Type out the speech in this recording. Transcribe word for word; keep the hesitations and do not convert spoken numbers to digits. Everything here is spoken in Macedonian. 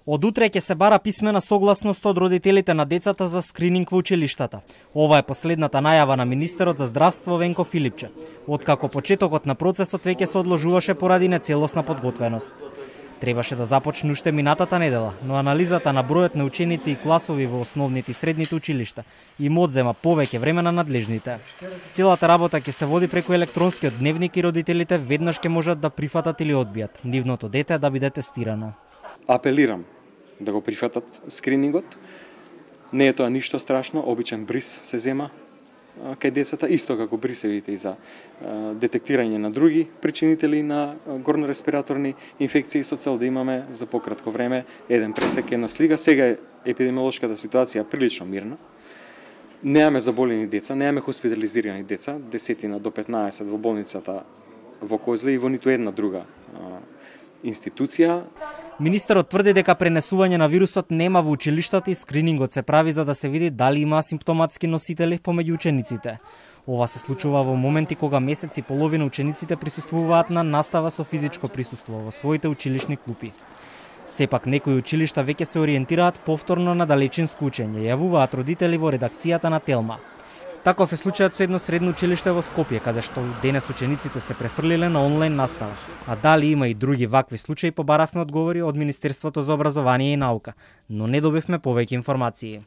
Од утре ќе се бара писмена согласност од родителите на децата за скрининг во училиштата. Ова е последната најава на министерот за здравство Венко Филипче, откако почетокот на процесот веќе се одложуваше поради нецелосна подготвеност. Требаше да започне уште минатата недела, но анализата на бројот на ученици и класови во основните и средните училишта им одзема повеќе време на надлежните. Целата работа ќе се води преку електронскиот дневник и родителите веднаш ќе можат да прифатат или одбијат нивното дете да биде тестирано. Апелирам да го прифатат скринингот. Не е тоа ништо страшно, обичен бриз се зема кај децата, исто како брисевите и за детектирање на други причинители на горнореспираторни инфекции со цел да имаме за пократко време еден пресек, една слика. Сега е епидемиолошката ситуација прилично мирна. Немаме заболени деца, немаме хоспитализирани деца, десетина до петнаесет во болницата во Козле и во ниту една друга институција. Министерот тврди дека пренесување на вирусот нема во училиштата и скринингот се прави за да се види дали има симптоматски носители помеѓу учениците. Ова се случува во моменти кога месец и половина учениците присуствуваат на настава со физичко присуство во своите училишни клупи. Сепак некои училишта веќе се ориентираат повторно на далечинско учење, јавуваат родители во редакцијата на Телма. Таков е случајот со едно средно училиште во Скопје, каде што денес учениците се префрлиле на онлайн настава. А дали има и други вакви случаи, побаравме одговори од Министерството за образование и наука, но не добивме повеќе информации.